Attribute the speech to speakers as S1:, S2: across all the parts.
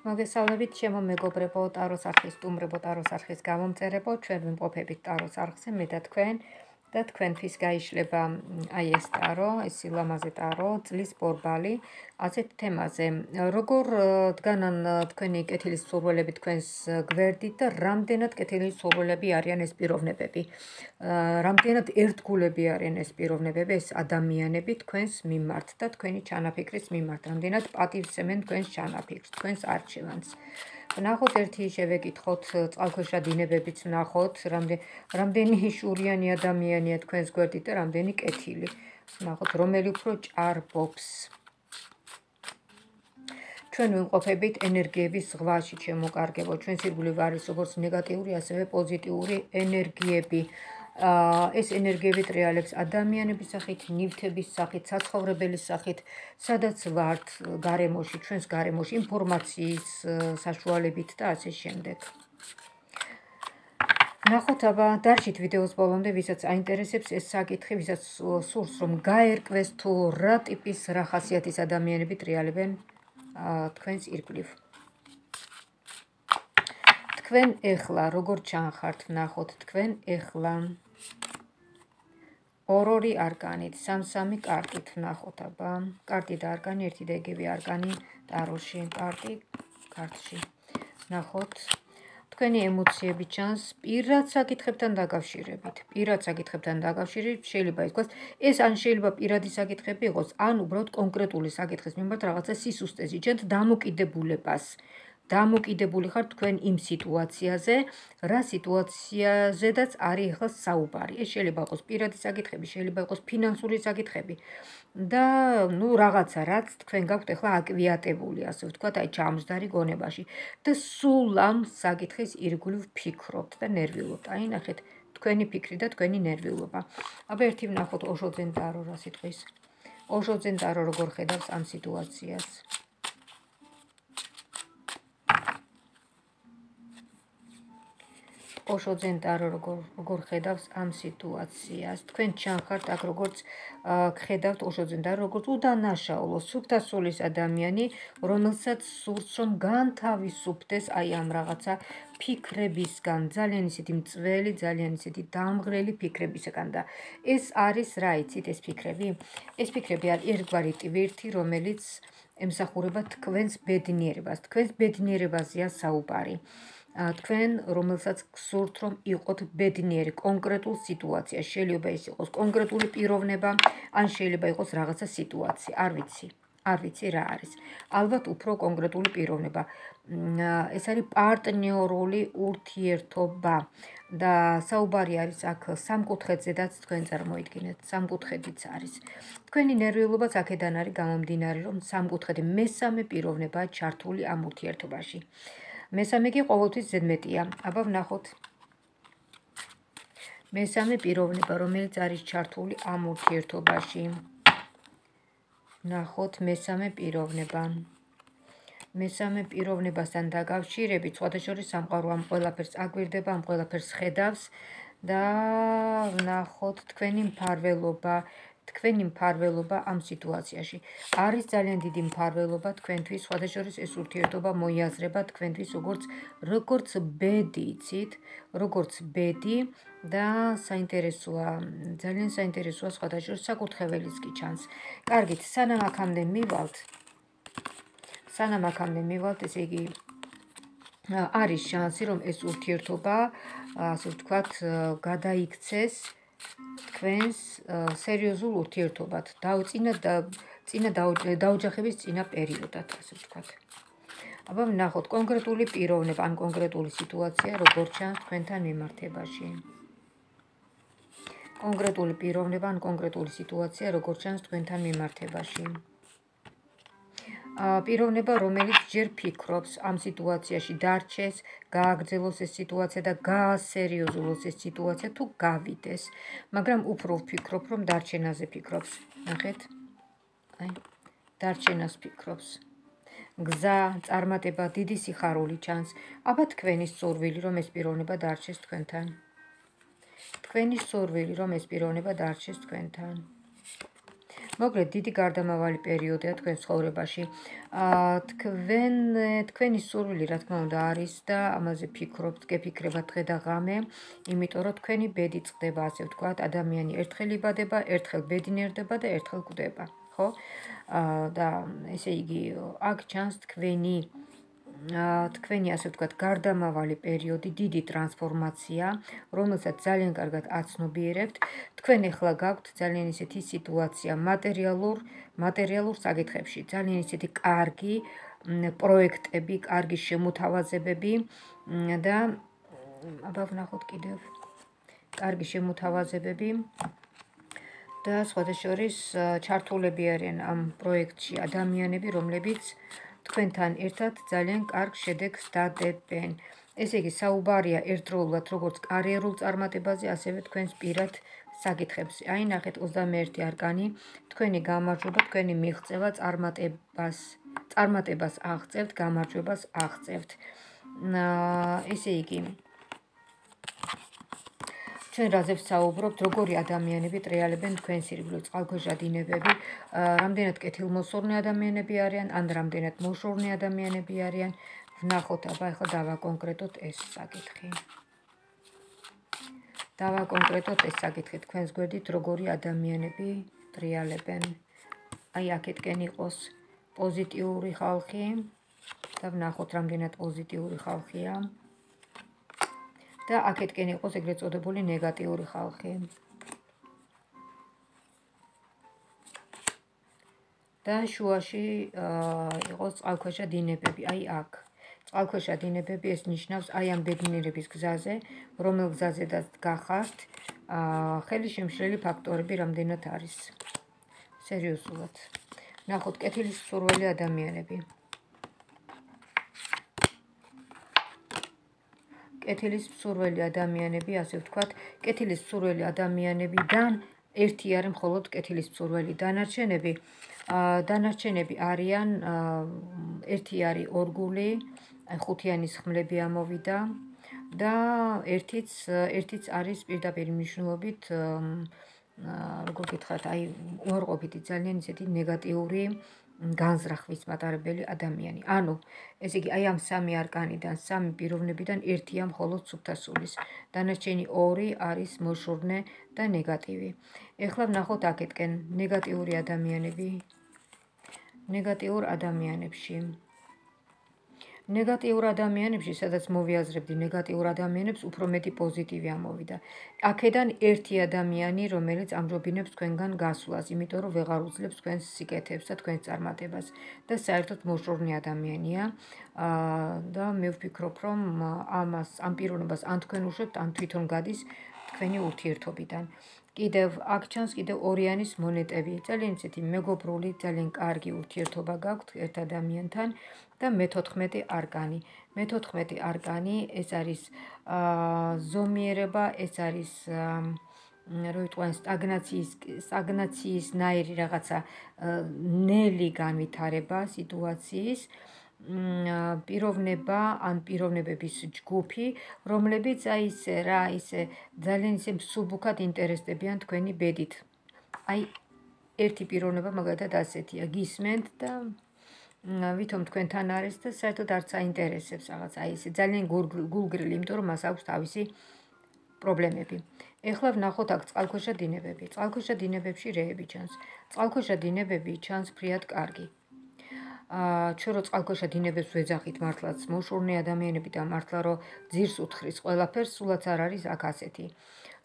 S1: მოგესალმებით ჩემო მეგობრებო, ტაროს არხის სტუმრებო, ტაროს არხის გამომწერებო, ჩვენ ვიმყოფებით ტაროს არხზე, მე და თქვენთვის გაიშლება აი ეს ტარო, ეს სილამაზე ტარო, წლის ბორბალი, ასეთ თემაზე. როგორ დგანან თქვენი კეთილის სურვილები თქვენს გვერდით და რამდენად კეთილის სურვილები არიან ეს პიროვნებები. რამდენად ერთგულები არიან ეს პიროვნებები, ეს ადამიანები თქვენს მიმართ და თქვენი ჩანაფიქრის მიმართ, რამდენად პატივსცემენ თქვენს ჩანაფიქრს, თქვენს არჩევანს. ვნახოთ ერთი შევეკითხოთ წყალქვეშა დინებებიც ვნახოთ, რამდენი შურიანი ადამიანია თქვენს გვერდით და რამდენი კეთილი. ვნახოთ რომელი უფრო ჭარბობს. ჩვენ ვიმყოფებით ენერგიების ზღვაში, ჩემო კარგებო, ჩვენს ირგვლივ არის როგორც ნეგატიური, ასევე პოზიტიური ენერგიები. ეს ენერგიები ტრიალებს ადამიანების სახით, ნივთების სახით, საცხოვრებელის სახით, სადაც ვართ გარემოში, ჩვენს გარემოში, ინფორმაციის საშუალებით და ასე შემდეგ. ნახოთ აბა დარჩით ვიდეოს ბოლომდე, ვისაც აინტერესებს ეს საკითხი, ვისაც სურს რომ გაერკვეს თუ რა ტიპის, რა ხასიათის ადამიანები ტრიალებენ თქვენს ირგვლივ. თქვენ ეხლა როგორ ჩანხართ, ვნახოთ თქვენ ეხლა ორ-ორი არკანით, სამ-სამი კარტით ვნახოთ აბა. კარტი და არკანი, ერთი და იგივე არკანი ტაროში, კარტი კარტში. ვნახოთ თქვენი ემოციები ჩანს პირად საკითხებთან დაკავშირებით. შეიძლება ითქვას, ეს ან შეიძლება პირადი საკითხები იყოს, ან უბრალოდ კონკრეტული საკითხის მიმართ რაღაცა სისუსტე იჩენთ დამოკიდებული ხართ თქვენ იმ სიტუაციაზე, რა სიტუაციაზედაც არის ახლა საუბარი. ეს შეიძლება იყოს პირადი საკითხები, შეიძლება იყოს ფინანსური საკითხები და რაღაცა, რაც თქვენ გაქვთ ახლა აკვიატებული, ასე ვთქვათ, აი ჩამჯდარი გონებაში და სულ ამ საკითხის ირგვლივ ფიქრობთ და ნერვიულობთ. აი ნახეთ, თქვენი ფიქრი და თქვენი ნერვიულობა. აბა ერთი ვნახოთ ოშოძენ ტარო რა სიტყვის. ოშოძენ ტარო როგორ ხედავს ამ სიტუაციას. ოშოძენ ტარო როგორ ხედავს ამ სიტუაციას. თქვენ ჩანხართ აქ როგორც ხედავთ ოშოძენ ტარო როგორც უდანაშაულო, სუფთასულის ადამიანი, რომელსაც სურს რომ განთავისუფლდეს აი ამ რაღაცა ფიქრებისგან, ძალიან ისეთი მწველი, ძალიან ისეთი დამღრელი ფიქრებისგან და ეს არის რა იცით ეს ფიქრები? ეს ფიქრები არის ერთგვარი ტვირთი, რომელიც ემსახურება თქვენს ბედნიერებას. თქვენს ბედნიერებაზეა საუბარი. თქვენ, რომელსაც გსურთ რომ იყოთ ბედნიერი კონკრეტულ სიტუაციაში, შეიძლება ის იყოს კონკრეტული პიროვნება, ან შეიძლება იყოს რაღაცა სიტუაცია, არ ვიცი რა არის. ალბათ უფრო კონკრეტული პიროვნება. ეს არის პარტნიორული ურთიერთობა და საუბარი არის აქ სამკუთხედზედაც თქვენ წარმოიდგინეთ, სამკუთხედიც არის. თქვენი ნერვიულობაც აქედან არის გამომდინარე, რომ სამკუთხედი მესამე პიროვნებაა ჩართული ამ ურთიერთობაში. მესამე კი ყოველთვის ზედმეტია. აბა ვნახოთ. მესამე პიროვნება, რომელიც არის ჩართული ამ ურთიერთობაში. ვნახოთ მესამე პიროვნება. მესამე პიროვნებასთან დაკავშირებით, სხვადასხვა სამყარო ამ ყველაფერს აკვირდება, ამ ყველაფერს ხედავს და ვნახოთ თქვენი მფარველობა ამ სიტუაციაში. არის ძალიან დიდი მფარველობა თქვენთვის, სხვადასხვა ეს ურთიერთობა მოიაზრება თქვენთვის როგორც ბედი, იცით, როგორც ბედი და საინტერესოა, ძალიან საინტერესოა სხვადასხვა საკურთხეველიც კი ჩანს. კარგით, სანამ აქამდე მივალთ, ესე იგი არის შანსი, რომ ეს ურთიერთობა, ასე ვთქვათ, გადაიქცეს თქვენს სერიოზულ ურთიერთობად, დაოჯახების წინა პერიოდად, ასე ვთქვათ. აბა ვნახოთ კონკრეტული პიროვნება ან კონკრეტული სიტუაცია როგორ ჩანს თქვენთან მიმართებაში. კონკრეტული პიროვნება ან კონკრეტული სიტუაცია როგორ ჩანს თქვენთან მიმართებაში. პიროვნება, რომელიც ჯერ ფიქრობს ამ სიტუაციაში დარჩეს, გააგრძელოს ეს სიტუაცია და გაასერიოზულოს ეს სიტუაცია თუ გავიდეს, მაგრამ უფრო ვფიქრობ, რომ დარჩენაზე ფიქრობს. ნახეთ? აი, დარჩენას ფიქრობს. გზა, წარმატება, დიდი სიხარული ჩანს. აბა თქვენი სურვილი, რომ ეს პიროვნება დარჩეს თქვენთან. მოგრეთ დიდი გარდამავალი პერიოდია თქვენ ცხოვრებაში. თქვენი სურვილი რა თქმა უნდა არის და ამაზე ფიქრობთ, გეფიქრებათ დღე და ღამე, იმიტომ რომ თქვენი ბედი წყდება, ასე ვთქვათ, ადამიანი ერთხელ იბადება, ერთხელ ბედნიერდება და ერთხელ კვდება, ხო? და ესე იგი, აქ ჩანს თქვენი ასე ვთქვათ, გარდამავალი პერიოდი, დიდი ტრანსფორმაცია, რომელსაც ძალიან კარგად აცნობიერებთ. თქვენ ახლა გაქვთ ძალიან ისეთი სიტუაცია მატერიალურ საკითხებში, ძალიან ისეთი კარგი პროექტები, კარგი შემოთავაზებები და აბა ვნახოთ კიდევ კარგი შემოთავაზებები და სხვათა შორის ჩართულები არიან ამ პროექტში ადამიანები, რომლებიც თქვენთან ერთად ძალიან კარგ შედეგს დადებენ. ესე იგი, საუბარია ერთდროულად როგორც კარიერულ წარმატებაზე, ასევე თქვენს პირად საკითხებზე. აი, ნახეთ 21 არკანი, თქვენი გამარჯვება, თქვენი მიღწევა წარმატებას აღწევთ, გამარჯვებას აღწევთ. ესე იგი, ჩვენ რაზე ვსაუბრობთ, როგორი ადამიანები ტრიალებენ თქვენს ირგვლივ, წყალქვეშა დინებები, რამდენად კეთილმოსურნე ადამიანები არიან, ან რამდენად მოშორნე ადამიანები არიან. ვნახოთ, აბა ახლა დავაკონკრეტოთ ეს საკითხი. თქვენს გვერდით როგორი ადამიანები ტრიალებენ. აი, აქეთკენ იყოს პოზიტიური ხალხი და ვნახოთ, რამდენად პოზიტიური ხალხია. და აქეთკენ იყოს ეგრეთ წოდებული ნეგატიური ხალხი. და შუაში იყოს წყალქვეშა დინებები, აი აქ. წყალქვეშა დინებები ეს ნიშნავს აი ამ ბედნიერების გზაზე, რომელ გზაზედაც გახართ, ხელისშემშლელი ფაქტორები რამდენად არის. სერიოზულად. ნახოთ, კეთილისმსურველი ადამიანები. კეთილისმსურველი ადამიანები, ასე ვთქვათ, კეთილისმსურველი ადამიანებიდან ერთი არის მხოლოდ კეთილისმსურველი, დანარჩენები არიან, ერთი არის ორგული, ხუთიანის ხმლები ამოვიდა და ერთიც არის პირდაპირ მნიშვნელობით, როგორ გითხრათ, აი, უარყოფითი, ძალიან ისეთი ნეგატიური განზრახვის მატარებელი ადამიანი. ანუ, ესე იგი, აი ამ სამი არკანიდან, სამი პიროვნებიდან ერთია მხოლოდ სუფთასულის. დანარჩენი ორი არის მოშორნე და ნეგატივი. ეხლა ვნახოთ აქეთკენ ნეგატიური ადამიანები. ნეგატიურ ადამიანებში, სადაც მოვიაზრებდი ნეგატიურ ადამიანებს, უფრო მეტი პოზიტივი ამოვიდა. აქედან ერთი ადამიანი, რომელიც ამჯობინებს თქვენგან გასვლას, იმიტომ რომ ვეღარ უძლებს თქვენს სიკეთებს და თქვენს წარმატებას და საერთოდ მოშორნე ადამიანია და მე ვფიქრობ, რომ ამ პიროვნებას ან თქვენ უშვებთ, ან თვითონ გადის თქვენი ურთიერთობიდან. კიდევ აქ ჩანს კიდევ ორიანის მონეტები, ძალიან ისეთი მეგობრული, ძალიან კარგი ურთიერთობა გაქვთ ერთ ადამიანთან და მე-14 არკანი. მე-14 არკანი ეს არის ზომიერება, ეს არის რო იტყვიან სტაგნაციისნაირი რაღაცა ნელი განვითარება სიტუაციის, პიროვნება ან პიროვნებების ჯგუფი, რომლებიც აი ისე ძალიან ისე მსუბუქად ინტერესდებიან თქვენი ბედით. აი, ერთი პიროვნება მაგალითად ასეთია, გისმენთ და ვითომ თქვენთან არის და საერთოდ არც აინტერესებს რაღაც აი ესე ძალიან გულგრილი, იმიტომ რომ მას აქვს თავისი პრობლემები. ეხლა ვნახოთ აქ წყალქვეშა დინებები. წყალქვეშა დინებებში რეები ჩანს. წყალქვეშა დინებები ჩანს ფრიად კარგი. ჩვენ რო წყალქვეშა დინებებს ვეძახით მართლაც მოშორნე ადამიანები და მართლა რო ძირს უთხრის ყველაფერს, სულაც არ არის აქ ასეთი.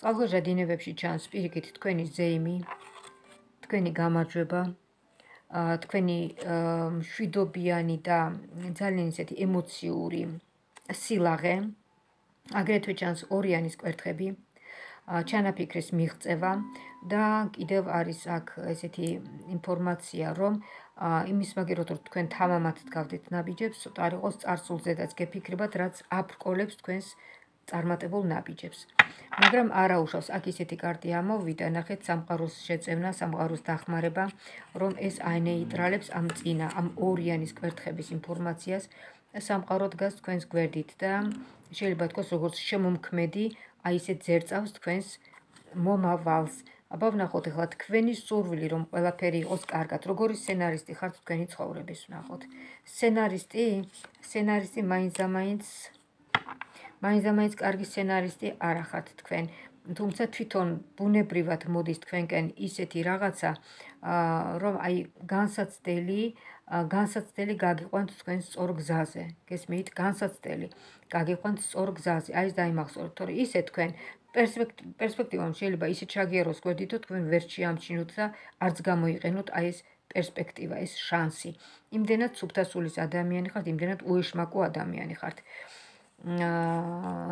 S1: წყალქვეშა დინებებში ჩანს პირიქით თქვენი ზეიმი, თქვენი გამარჯვება, თქვენი მშვიდობიანი და ძალიან ისეთი ემოციური სილაღე, აგრეთვე ჩანს ორიანის კვერთხები, ჩანაფიქრის მიღწევა და კიდევ არის აქ ესეთი ინფორმაცია, რომ იმის მაგერად რომ თქვენ თამამად დგავდეთ ნაბიჯებს, ცოტა არ იყოს წარსულზედაც გეფიქრებათ, რაც აფრკოლებს თქვენს წარმატებულ ნაბიჯებს. მაგრამ არა უშავს, აქ ისეთი კარტი ამოვიდა, ნახეთ სამყაროს შეწევნა, სამყაროს დახმარება, რომ ეს აინეიტრალებს ამ წინა, ამ ორიანის კვერთხების ინფორმაციას და სამყარო დგას თქვენს გვერდით და შეიძლება თქვას როგორც შემომქმედი, აი ესე ძერწავს თქვენს მომავალს აბა ვნახოთ ახლა თქვენი სურვილი რომ ყველაფერი იყოს კარგად. როგორი სცენარისტი ხართ თქვენი ცხოვრების ვნახოთ. სცენარისტი მაინც კარგი სცენარისტი არ ახართ თქვენ. თუმცა თვითონ ბუნებრივად მოდის თქვენკენ ისეთი რაღაცა, რომ აი განსაცდელი გაგიყვანთ თქვენ სწორ გზაზე. გესმით? განსაცდელი გაგიყვანთ სწორ გზაზე. აი ეს დაიმახსოვრეთ, თორე ისე თქვენ პერსპექტივამ შეიძლება ისე ჩაგიაროს გვერდით, რომ თქვენ ვერ შეამჩნიოთ და არც გამოიყენოთ აი ეს პერსპექტივა, ეს შანსი. იმდენად სუფთასულის ადამიანი ხართ, იმდენად უეშმაკო ადამიანი ხართ.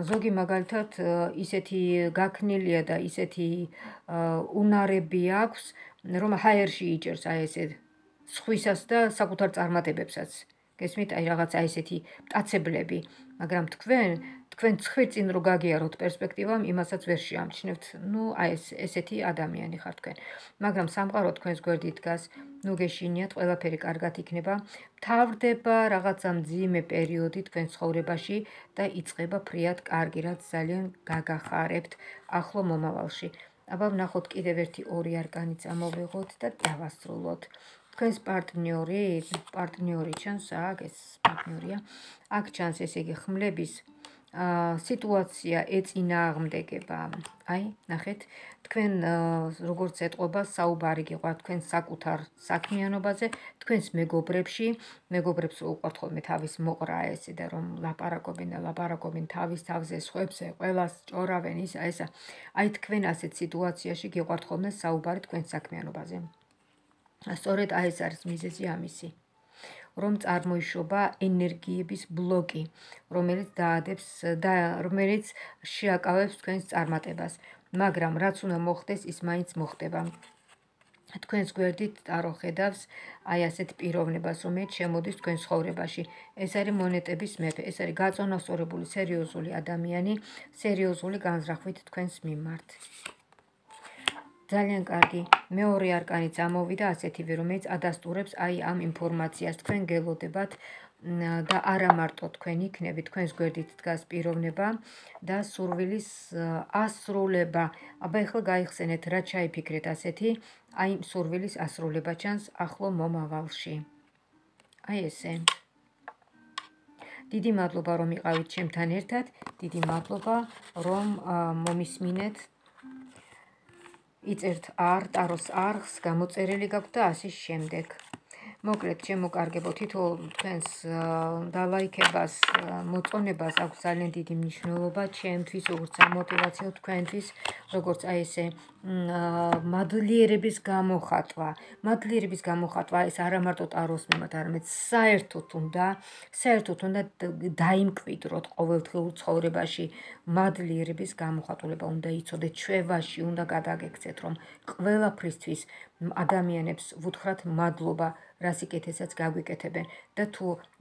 S1: ზოგი მაგალითად ისეთი გაქნილია და ისეთი უნარები აქვს, რომ ჰაერში იჭერს აი ესე სხვისას და საკუთარ წარმატებებსაც. გესმით, აი რაღაცა ესეთი მტაცებლები, მაგრამ თქვენ ცხვირწინ რო გაგიაროთ პერსპექტივამ, იმასაც ვერ შეამჩნევთ. აი ესეთი ადამიანი ხართ თქვენ. მაგრამ სამყარო თქვენს გვერდით დგას, გეშინიათ, ყველაფერი კარგად იქნება. მთავრდება რაღაცა მძიმე პერიოდი თქვენ ცხოვრებაში და იწყება ფრიად კარგი, რაც ძალიან გაგახარებთ ახლო მომავალში. აბა ვნახოთ კიდევ ერთი ორი არკანი წამოვიღოთ და დავასრულოთ. თქვენს პარტნიორი ჩანს აქ, ეს პარტნიორია. აქ ჩანს ესე იგი ხმლების სიტუაცია ეწინააღმდეგება. აი, ნახეთ, თქვენ როგორც ეტყობა საუბარი გიყვართ თქვენ საკუთარ საქმიანობაზე, თქვენს მეგობრებს უყვართ ხოლმე თავის მოყრა ესე და რომ ლაპარაკობენ თავის თავზე, სხვებზე, ყველას ჭორავენ ესა. აი თქვენ ასეთ სიტუაციაში გიყვართ ხოლმე საუბარი თქვენს საქმიანობაზე. სწორედ აი ეს არის მიზეზი ამისი, რომ წარმოიშობა ენერგიების ბლოკი, რომელიც შეაკავებს თქვენს წარმატებას, მაგრამ რაც უნდა მოხდეს, ის მაინც მოხდება. თქვენს გვერდით ტარო ხედავს აი ასეთ პიროვნებას, რომელიც შემოდის თქვენ ცხოვრებაში. ეს არის მონეტების მეფე, ეს არის გაწონასწორებული სერიოზული ადამიანი, სერიოზული განზრახვით თქვენს მიმართ. ძალიან კარგი. მეორე არკანი წამოვიდა ასეთივე, რომელიც ადასტურებს აი ამ ინფორმაციას. თქვენ გელოდებათ და არა მარტო თქვენ იქნებით, თქვენს გვერდით დგას პიროვნება და სურვილის ასრულება. აბა ეხლა გაიხსენეთ, რა ჩაიფიქრეთ ასეთი, აი სურვილის ასრულება ჩანს ახლო მომავალში. აი ესე. დიდი მადლობა რომ იყავით ჩემთან ერთად, დიდი მადლობა რომ მომისმინეთ. იწერთ ტაროს არხს, გამოწერილი გაქვთ და ასე შემდეგ. მოკლედ, ჩემო კარგებო, თითოეულ თქვენს დალაიქებას, მოწონებას აქვს ძალიან დიდი მნიშვნელობა ჩემთვის, როგორც სამოტივაციო თქვენთვის, როგორც აი ესე მადლიერების გამოხატვა, ეს არა მარტო ტაროს მიმართ, არამედ საერთოდ უნდა დაიმკვიდროთ ყოველდღიურ ცხოვრებაში. მადლიერების გამოხატულება უნდა იცოდეთ, ჩვევაში უნდა გადაგექცეთ, რომ ყველაფრისთვის ადამიანებს ვუთხრათ მადლობა, რა სიკეთესაც გაგვიკეთებენ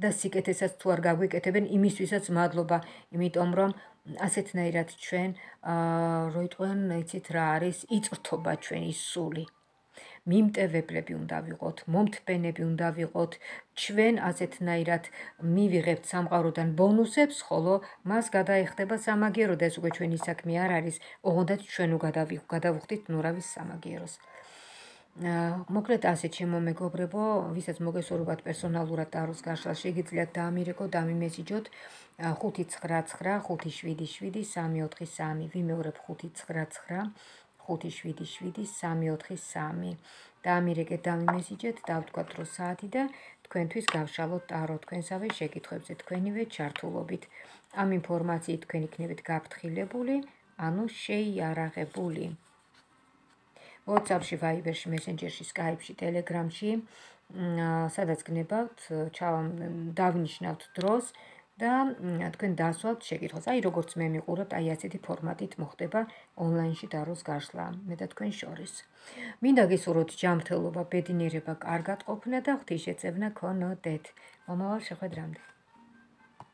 S1: და სიკეთესაც თუ არ გაგვიკეთებენ, იმისთვისაც მადლობა, იმიტომ რომ ასეთნაირად ჩვენ როიტყვენ, იცით რა არის, იწრთობა ჩვენი სული. მიმტევებლები უნდა ვიყოთ, მომთბენები უნდა ვიყოთ, ჩვენ ასეთნაირად მივიღებთ სამყაროდან ბონუსებს, ხოლო მას გადაეხდება სამაგიერო და ეს უკვე ჩვენი საქმე არ არის, ოღონდაც ჩვენ გადავუხდით ნურავის სამაგიეროს. მოკლედ ასე ჩემო მეგობრებო, ვისაც მოგესურვებათ პერსონალურად ტაროს გაშლა, შეგიძლიათ დაამირეკოთ, დამიმესიჯოთ 599577343, ვიმეორებ 599577343. დაამირეკეთ, დამიმესიჯეთ, დავთქვათ დრო საათი და თქვენთვის გავშალოთ ტარო თქვენსავე შეკითხვებზე თქვენივე ჩართულობით. ამ ინფორმაციით თქვენ იქნებით გაფრთხილებული, ანუ შეიარაღებული. WhatsApp-ში, Viber-ში, Messenger-ში, Skype-ში, Telegram-ში, სადაც გნებავთ, დავნიშნავთ დროს და თქვენ დასვათ შეკითხვას. აი როგორც მე მიყურებთ, აი ასეთი ფორმატით მოხდება ონლაინში ტაროს გაშლა, მე და თქვენ შორის. მინდა გისურვოთ ჯანმრთელობა, ბედნიერება, კარგად ყოფნა და ღვთისმშეწევნა გქონოდეთ. მომავალ შეხვედრამდე.